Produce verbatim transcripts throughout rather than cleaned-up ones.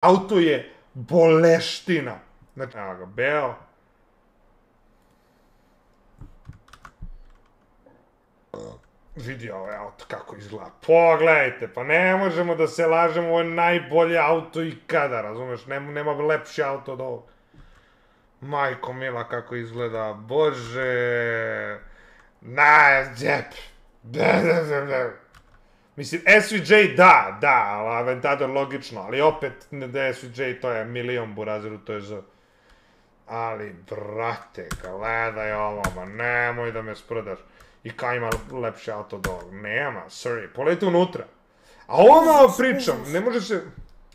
Auto je boleština. Znači, evo ga, beo. Vidi ovaj auto kako izgleda. Pogledajte, pa ne možemo da se lažemo, ovo je najbolje auto ikada, razumeš? Nema, nema lepši auto od ovog. Majko mila kako izgleda, bože. Na, džep. Mislim, S V J da, da, ali Aventador logično, ali opet S V J to je milion burazeru, to je Z. Ali, brate, gledaj ovo, ma nemoj da me sprdaš. I kao ima lepši auto od ovog, nema, sorry, poleti unutra. A ovo malo pričam, ne može se...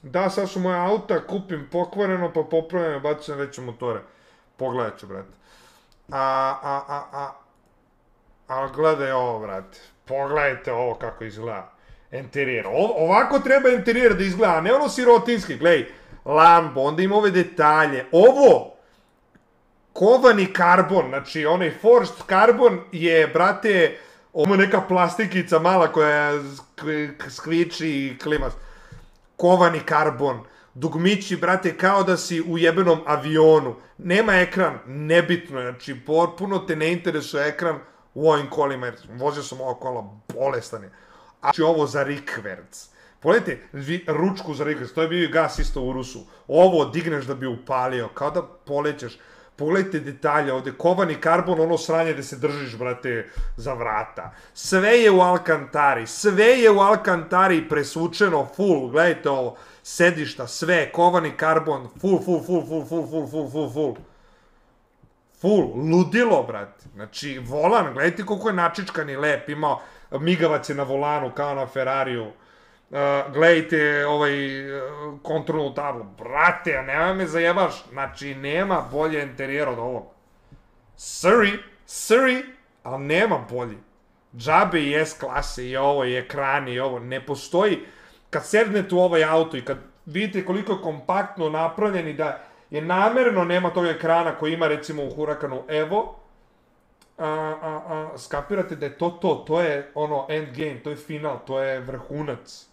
Da, sad su moja auta, kupim pokvareno, pa popravljam i bacim veće motore. Pogledat ću, brate. A, a, a, a... A gledaj ovo, brate. Pogledajte ovo kako izgleda. Interijer. Ovako treba interijer da izgleda, a ne ono sirotinski. Gledaj, Lambo, onda ima ove detalje. Ovo, kovani karbon, znači onaj forced karbon je, brate, ovo neka plastikica mala koja skviči i klima. Kovani karbon. Dugmići, brate, kao da si u jebenom avionu. Nema ekran, nebitno je, znači, potpuno te ne interesuje ekran u ovim kolima, jer vozio sam ovo kola, bolestan je. A znači ovo za rikverc. Pogledajte, ručku za rikverc, to je bio gas isto u Rusu. Ovo digneš da bi upalio, kao da polećeš. Pogledajte detalje ovde, kovani karbon, ono sranje gde se držiš, brate, za vrata. Sve je u Alcantari, sve je u Alcantari presvučeno, full, gledajte ovo, sedišta, sve, kovani karbon, full, full, full, full, full, full, full, full, full. Full, ludilo, brate. Znači, volan, gledajte koliko je načičkan i lep, imao migavac je na volanu, kao na Ferrariju. Gledajte ovaj kontrolnu tablu. Brate, nema me zajebaš. Znači, nema bolje interijera od ovog. Sorry, sorry, ali nema bolji. Džabe i S klase i ovo, i ekrani i ovo. Ne postoji. Kad sednete u ovaj auto i kad vidite koliko je kompaktno napravljen i da je namerno nema tog ekrana koji ima recimo u Huracanu Evo, a, a, a, skapirate da je to to, to je ono endgame, to je final, to je vrhunac.